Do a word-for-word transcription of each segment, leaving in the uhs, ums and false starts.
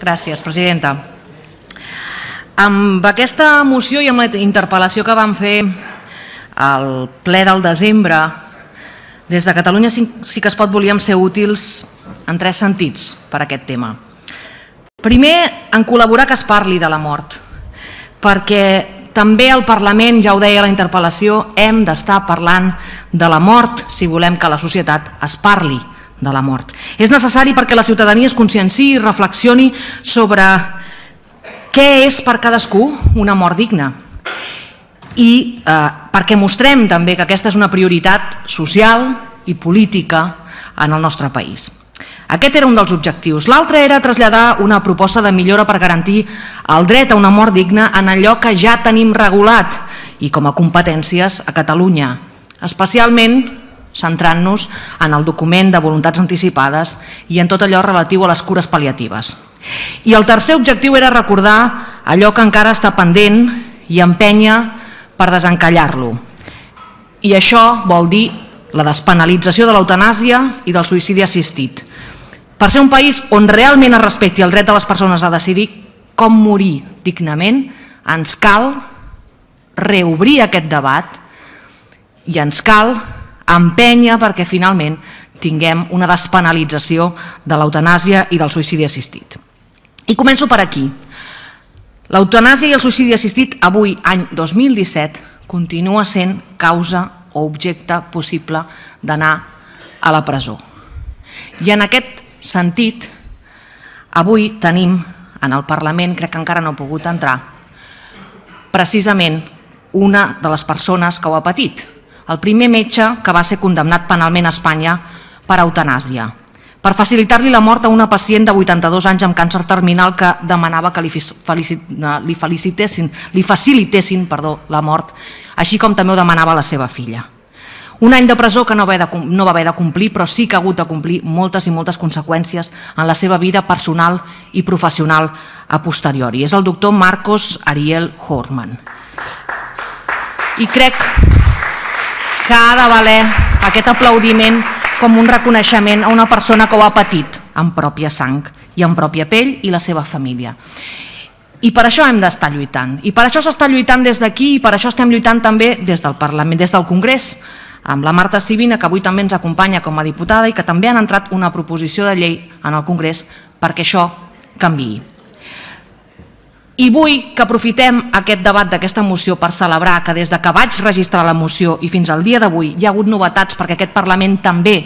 Gràcies, presidenta. Amb aquesta moció i amb la interpel·lació que vam fer al ple del desembre, des de Catalunya sí que es pot volíem ser útils en tres sentits per a aquest tema. Primer, en col·laborar que es parli de la mort, perquè també al Parlament, ja ho deia la interpel·lació, hem d'estar parlant de la mort si volem que la societat es parli de la mort. És necessari perquè la ciutadania es conscienciï i reflexioni sobre què és per cadascú una mort digna i eh, perquè mostrem també que aquesta és una prioritat social i política en el nostre país. Aquest era un dels objectius. L'altre era traslladar una proposta de millora per garantir el dret a una mort digna en allò que ja tenim regulat i com a competències a Catalunya, especialment centrant-nos en el document de voluntats anticipades i en tot allò relatiu a les cures pal·liatives. I el tercer objectiu era recordar allò que encara està pendent i empènyer per desencallar-lo. I això vol dir la despenalització de l'eutanàsia i del suïcidi assistit. Per ser un país on realment es respecti el dret de les persones a decidir com morir dignament, ens cal reobrir aquest debat i ens cal empènyer perquè finalment tinguem una despenalització de l'eutanàsia i del suïcidi assistit. I començo per aquí. L'eutanàsia i el suïcidi assistit avui, any dos mil disset, continua sent causa o objecte possible d'anar a la presó. I en aquest sentit, avui tenim en el Parlament, crec que encara no ha pogut entrar, precisament una de les persones que ho ha patit, el primer metge que va ser condemnat penalment a Espanya per eutanàsia, per facilitar-li la mort a una pacient de vuitanta-dos anys amb càncer terminal que demanava que li facilitessin, li facilitessin perdó, la mort, així com també ho demanava la seva filla. Un any de presó que no va haver de complir, però sí que ha hagut de complir moltes i moltes conseqüències en la seva vida personal i professional a posteriori. És el doctor Marcos Ariel Horman. I crec que ha de valer aquest aplaudiment com un reconeixement a una persona que ho ha patit en pròpia sang i en pròpia pell i la seva família. I per això hem d'estar lluitant. I per això s'està lluitant des d'aquí i per això estem lluitant també des del Parlament, des del Congrés, amb la Marta Sibina, que avui també ens acompanya com a diputada i que també han entrat una proposició de llei en el Congrés perquè això canviï. I vull que aprofitem aquest debat d'aquesta moció per celebrar que des que vaig registrar la moció i fins al dia d'avui hi ha hagut novetats perquè aquest Parlament també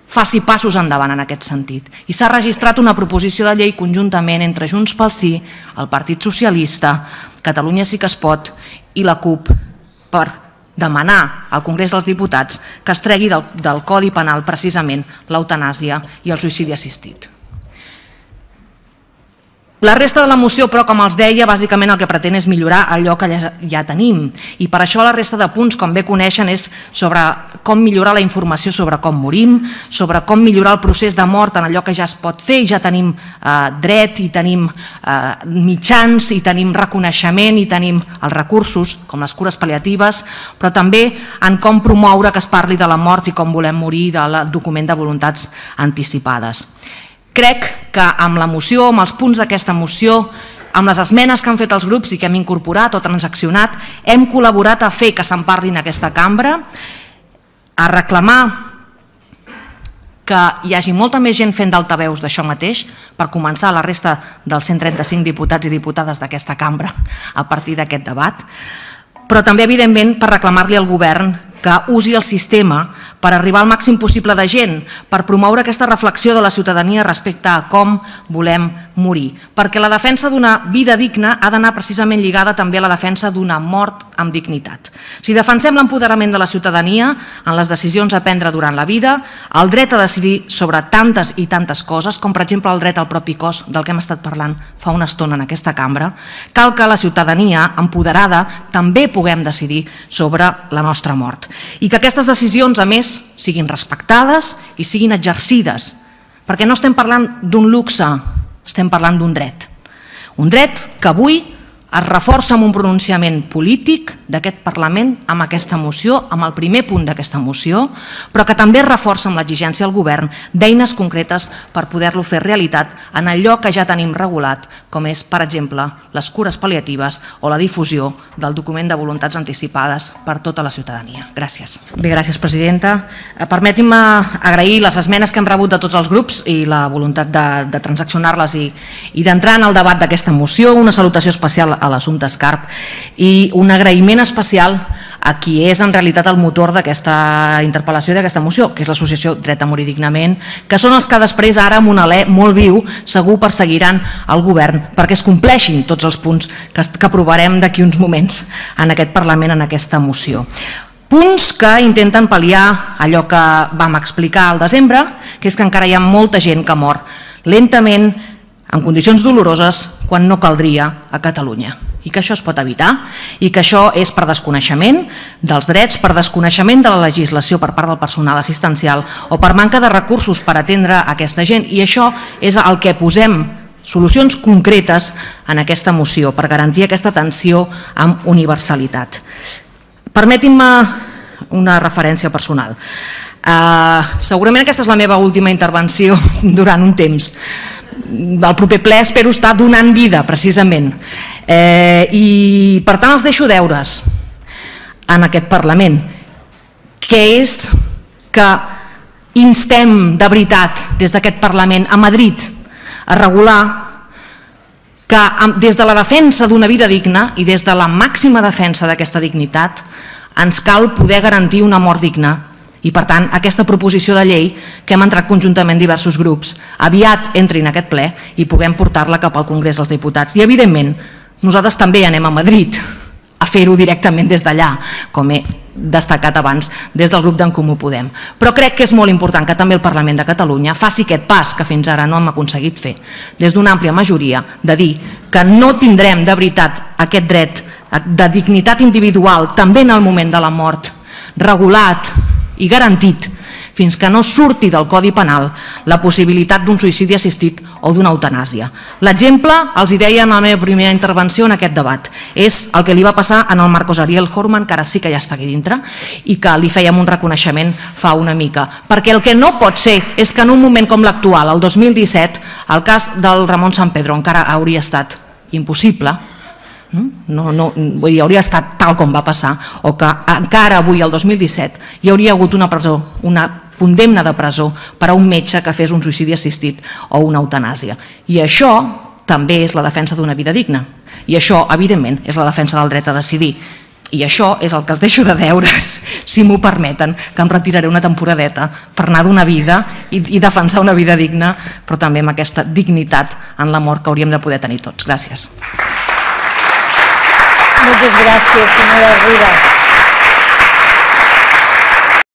faci passos endavant en aquest sentit. I s'ha registrat una proposició de llei conjuntament entre Junts pel Sí, el Partit Socialista, Catalunya Sí que es pot i la CUP per demanar al Congrés dels Diputats que es tregui del, del Codi Penal precisament l'eutanàsia i el suïcidi assistit. La resta de la moció, però, com els deia, bàsicament el que pretén és millorar allò que ja, ja tenim. I per això la resta de punts, com bé coneixen, és sobre com millorar la informació sobre com morim, sobre com millorar el procés de mort en allò que ja es pot fer, i ja tenim eh, dret, i tenim eh, mitjans, i tenim reconeixement, i tenim els recursos, com les cures pal·liatives, però també en com promoure que es parli de la mort i com volem morir del document de voluntats anticipades. Crec que amb la moció, amb els punts d'aquesta moció, amb les esmenes que han fet els grups i que hem incorporat o transaccionat, hem col·laborat a fer que se'n parli en aquesta cambra, a reclamar que hi hagi molta més gent fent d'altaveus d'això mateix, per començar la resta dels cent trenta-cinc diputats i diputades d'aquesta cambra a partir d'aquest debat, però també, evidentment, per reclamar-li al govern que usi el sistema per arribar al màxim possible de gent, per promoure aquesta reflexió de la ciutadania respecte a com volem morir. Perquè la defensa d'una vida digna ha d'anar precisament lligada també a la defensa d'una mort amb dignitat. Si defensem l'empoderament de la ciutadania en les decisions a prendre durant la vida, el dret a decidir sobre tantes i tantes coses, com per exemple el dret al propi cos, del que hem estat parlant fa una estona en aquesta cambra, cal que la ciutadania empoderada també puguem decidir sobre la nostra mort. I que aquestes decisions, a més, siguin respectades i siguin exercides, perquè no estem parlant d'un luxe, estem parlant d'un dret. Un dret que avui es reforça amb un pronunciament polític d'aquest Parlament amb aquesta moció, amb el primer punt d'aquesta moció, però que també es reforça amb l'exigència al govern d'eines concretes per poder-lo fer realitat en allò que ja tenim regulat, com és, per exemple, les cures pal·liatives o la difusió del document de voluntats anticipades per tota la ciutadania. Gràcies. Bé, gràcies, presidenta. Permetin-me agrair les esmenes que hem rebut de tots els grups i la voluntat de, de transaccionar-les i, i d'entrar en el debat d'aquesta moció. Una salutació especial a l'assumpte Escarp i un agraïment especial a qui és en realitat el motor d'aquesta interpel·lació i d'aquesta moció, que és l'associació Dret a Morir Dignament, que són els que després ara amb un alè molt viu segur perseguiran el govern perquè es compleixin tots els punts que, que aprovarem d'aquí uns moments en aquest Parlament en aquesta moció. Punts que intenten pal·liar allò que vam explicar al desembre, que és que encara hi ha molta gent que mor lentament, en condicions doloroses, quan no caldria a Catalunya. I que això es pot evitar i que això és per desconeixement dels drets, per desconeixement de la legislació per part del personal assistencial o per manca de recursos per atendre aquesta gent. I això és el que posem solucions concretes en aquesta moció per garantir aquesta atenció amb universalitat. Permetin-me una referència personal. Uh, segurament aquesta és la meva última intervenció durant un temps. Del proper ple espero estar donant vida, precisament. Eh, I per tant els deixo deures en aquest Parlament, que és que instem de veritat des d'aquest Parlament a Madrid a regular que des de la defensa d'una vida digna i des de la màxima defensa d'aquesta dignitat ens cal poder garantir una mort digna. I per tant aquesta proposició de llei que hem entrat conjuntament diversos grups aviat entri en aquest ple i puguem portar-la cap al Congrés dels Diputats. I evidentment nosaltres també anem a Madrid a fer-ho directament des d'allà, com he destacat abans des del grup d'En Comú Podem. Però crec que és molt important que també el Parlament de Catalunya faci aquest pas que fins ara no hem aconseguit fer des d'una àmplia majoria, de dir que no tindrem de veritat aquest dret de dignitat individual també en el moment de la mort regulat i garantit fins que no surti del Codi Penal la possibilitat d'un suïcidi assistit o d'una eutanàsia. L'exemple, els hi deia en la meva primera intervenció en aquest debat, és el que li va passar en el Marcos Ariel Horman, que ara sí que ja està aquí dintre, i que li fèiem un reconeixement fa una mica. Perquè el que no pot ser és que en un moment com l'actual, el dos mil disset, el cas del Ramon Sampedro encara hauria estat impossible, No, no, vull dir, hauria estat tal com va passar, o que encara avui, el dos mil disset, hi hauria hagut una presó, una condemna de presó per a un metge que fes un suïcidi assistit o una eutanàsia. I això també és la defensa d'una vida digna. I això, evidentment, és la defensa del dret a decidir. I això és el que els deixo de deures, si m'ho permeten, que em retiraré una temporadeta per anar d'una vida i, i defensar una vida digna, però també amb aquesta dignitat en la mort que hauríem de poder tenir tots. Gràcies. Muchas gracias, señora Rivas.